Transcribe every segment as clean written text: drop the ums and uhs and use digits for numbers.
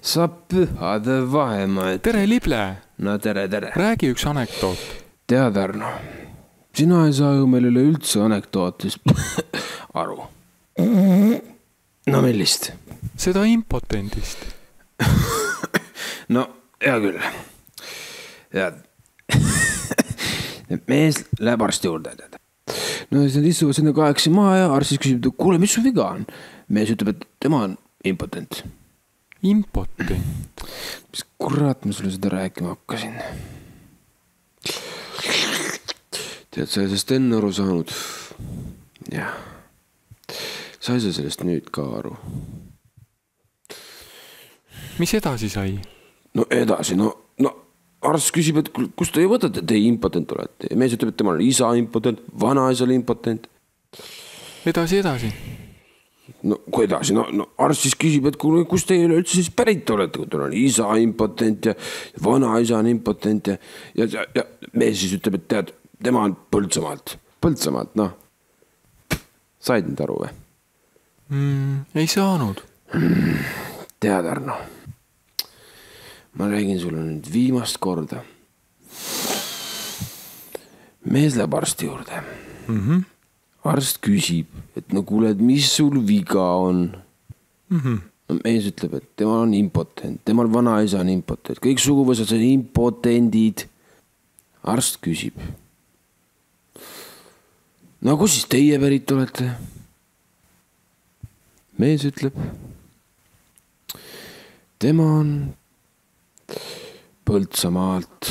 Sa pühade vahemaa. Tere, Lible! No tere. Räägi üks anekdoot. Tead, Arno, sina ei saa ju meil üle üldse anekdootist aru. No millist? Seda impotendist. No, hea küll. Tead. Mees läheb arsti juurde. No siis nad istuvad sinna 8 maha ja arst siis küsib, kuule, mis su viga on? Mees ütleb, et tema on impotent. Impotent? Mis kurat ma sulle seda rääkima hakkasin? Tead, sa ei sellest enne aru saanud. Jah. Sa ei saa sellest nüüd ka aru. Mis edasi sai? No edasi, no arst küsib, et kust te võtate, te impotent olete. Ja mees ütleb, et tema on isa impotent, vanaisa impotent. Edasi. No kui edasi, no arst siis küsib, et kust te üldse siis pärit olete, kui teil on isa impotent ja vanaisa on impotent ja mees siis ütleb, et tead, tema on Põltsamaalt, noh. Said nüüd aru või? Ei saanud. Tead, Arno, ma räägin sulle nüüd viimast korda. Mees läheb arsti juurde. Arst küsib, et no kuule, mis sul viga on? No mees ütleb, et tema on impotent, temal vanaisa on impotent, kõik suguvõsad on impotendid. Arst küsib. No kus siis teie pärit olete? Mees ütleb, tema on Põltsamaalt.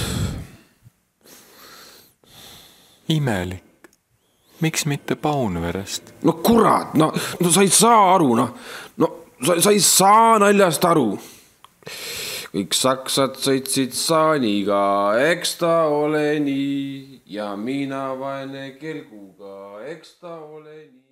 Imelik. Miks mitte Paunverest? No kurat, no sa ei saa aru, sa ei saa naljast aru. Kõik saksad sõitsid saaniga, eks ta ole nii, ja mina vaene kelguga, eks ta ole nii.